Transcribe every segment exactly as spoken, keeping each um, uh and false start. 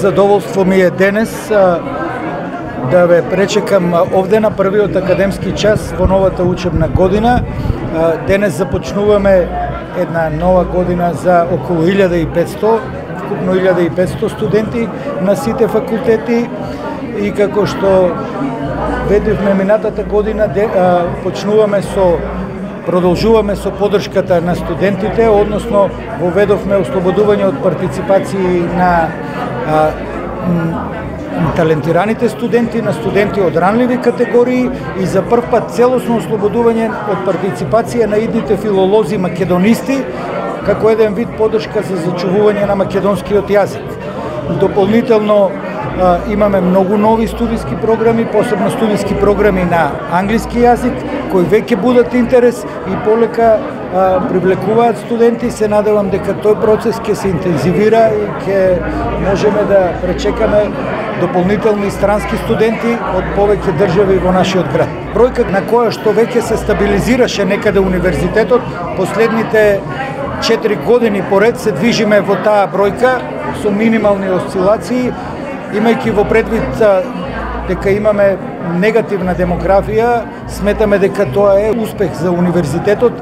Задоволство ми е денес а, да ве пречекам овде на првиот академски час во новата учебна година. А, денес започнуваме една нова година за околу илјада и петсто, вкупно илјада и петсто студенти на сите факултети, и како што ведивме минатата година, де, а, почнуваме со Продолжуваме со поддршката на студентите, односно воведовме ослободување од партиципации на а, талентираните студенти, на студенти од ранливи категории, и за прв пат целосно ослободување од партиципација на идните филолози македонисти, како еден вид поддршка за зачувување на македонскиот јазик. Дополнително а, имаме многу нови студиски програми, посебно студиски програми на англиски јазик, кои веќе будат интерес и полека а, привлекуваат студенти. Се надевам дека тој процес ќе се интензивира и ќе можеме да пречекаме дополнителни странски студенти од повеќе држави во нашиот град. Бројка на која што веќе се стабилизираше некаде универзитетот, последните четири години поред се движиме во таа бројка со минимални осцилации, имајќи во предвид а, дека имаме негативна демографија. Сметаме дека тоа е успех за универзитетот,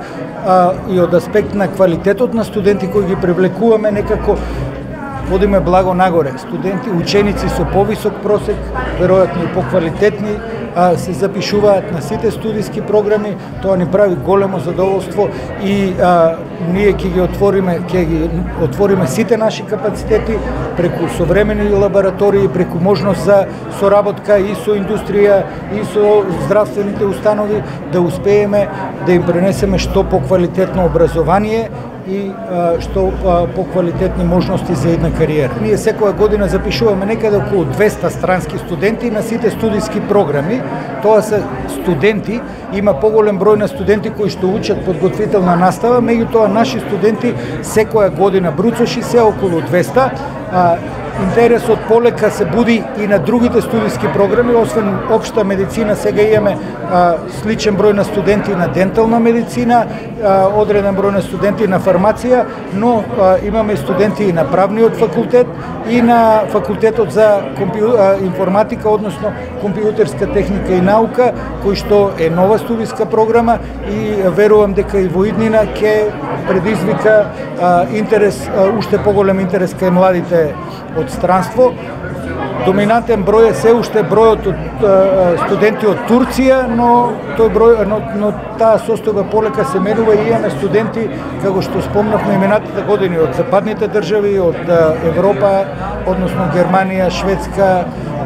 а, и од аспект на квалитетот на студенти кои ги привлекуваме, некако водиме благо нагоре. Студенти, ученици со повисок просек, веројатно и поквалитетни, а, се запишуваат на сите студиски програми. Тоа ни прави големо задоволство и а, ние ќе ги отвориме, ќе ги отвориме сите наши капацитети преку современи лаборатории, преку можност за соработка и со индустрија, и со здравствените установи, да успееме да им пренесеме што поквалитетно образование и а, што а, поквалитетни можности за една кариера. Ние секоја година запишуваме некаде околу двеста странски студенти на сите студиски програми. Тоа се студенти, има поголем број на студенти кои што учат подготвителна настава, меѓутоа наши студенти секоја година бруцоши се околу двеста. А, интересот полека се буди и на другите студиски програми, освен општа медицина, сега имаме а, сличен број на студенти на дентална медицина, а, одреден број на студенти на фармација, но а, имаме студенти и на правниот факултет и на факултетот за компју... а, информатика, односно компјутерска техника и наука, кој што е нова студиска програма, и верувам дека и во иднина ќе предизвика а, интерес, а, уште поголем интерес кај младите од странство. Доминантен број е се уште бројот од а, студенти од Турција, но тој број, но, но таа состојба полека се менува и имаме студенти, како што спомнавме и минатите години, од западните држави, од а, Европа, односно Германија, Шведска,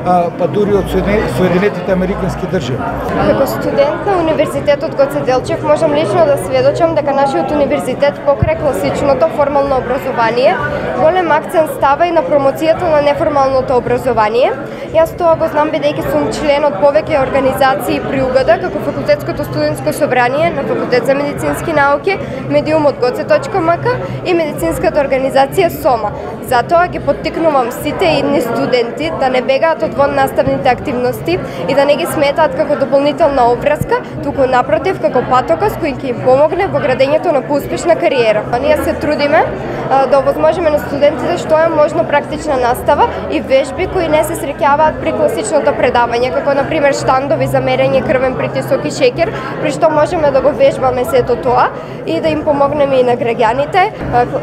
а, па дури од Соединетите Американски држави. Како студент на Универзитетот Гоце Делчев можам лично да сведочам дека нашиот универзитет покрај класичното формално образование голем акцент става и на промоцијата на неформалното образование. Јас тоа го знам бидејќи сум член од повеќе организации при УГД, како Факултетското студентско собрание на Факултет за медицински науки, медиумот гоце точка ем ка и медицинската организација СОМА. Затоа ги поттикнувам сите идни студенти да не бегаат од вон наставните активности и да не ги сметаат како дополнителна обврска, туку напротив како патокас кој ќе им помогне во градењето на поуспешна кариера. Ние се трудиме а, да овозможиме на студентите што е можно практична настава и вежби кои не се среќаваат при класичното предавање, како на пример штандови за мерење крвен притисок и шеќер, при што можеме да го вежбаме сето тоа и да им помогнеме и на граѓаните.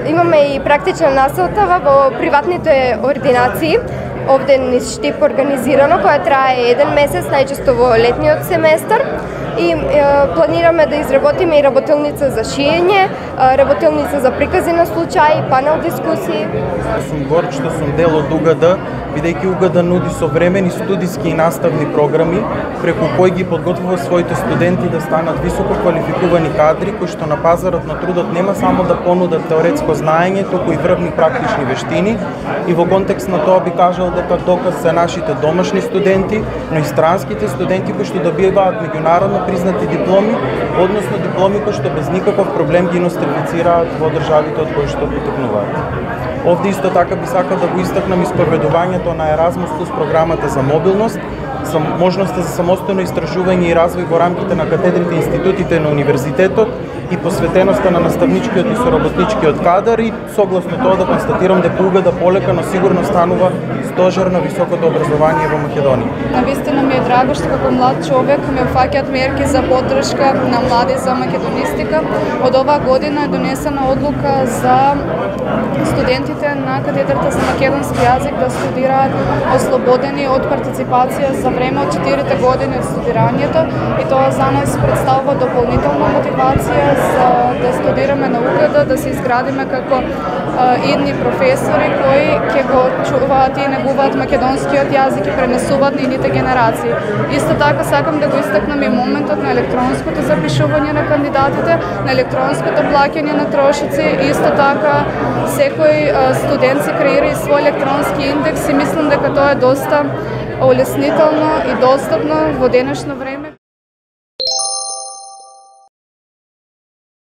Имаме и практична настава во приватните ординации, овде низ Штип организирано, која трае еден месец, најчесто во летниот семестар. И е, планираме да изработиме и работилница за шиење, работилница за прикази на случаи, панел дискусии. Сум горд што сум дел од УГД, бидејќи УГД нуди современи студиски и наставни програми, преку кои ги подготвува своите студенти да станат високо квалификувани кадри, кои што на пазарот на трудот нема само да понудат теоретско знаење, туку и врвни практични вештини. И во контекст на тоа би кажал дека доказ се нашите домашни студенти, но и странските студенти кои што добиваат меѓународно признати дипломи, односно дипломи кои што без никаков проблем ги нострифицираат во државите од кои што потекнуваат. Овде исто така би сакал да го истакнам исповедувањето на Еразмус плюс програмата за мобилност. можноста за самостојно истражување и развој во рамките на катедрите и институтите на универзитетот и посветеноста на наставничкиот и соработничкиот кадар и согласно тоа да констатирам дека угада полека, но сигурно станува стожер на високото образование во Македонија. Навистина ми е драго што како млад човек ме ufаќаат мерки за поддршка на млади за македонистика. Од оваа година е донесена одлука за студентите на катедрата за македонски јазик да студираат ослободени од партиципација за време од четирите години од студирањето и тоа за нас представува дополнителна мотивација за да студираме на угада, да се изградиме како идни професори кои ќе го чуваат и негуваат македонскиот јазик и пренесуваат на идните генерации. Исто така сакам да го истакнам и моментот на електронското запишување на кандидатите, на електронското плаќање на трошици, исто така секој студент се креира и свој електронски индекс и мислам дека тоа е доста олеснително и достапно во денешно време.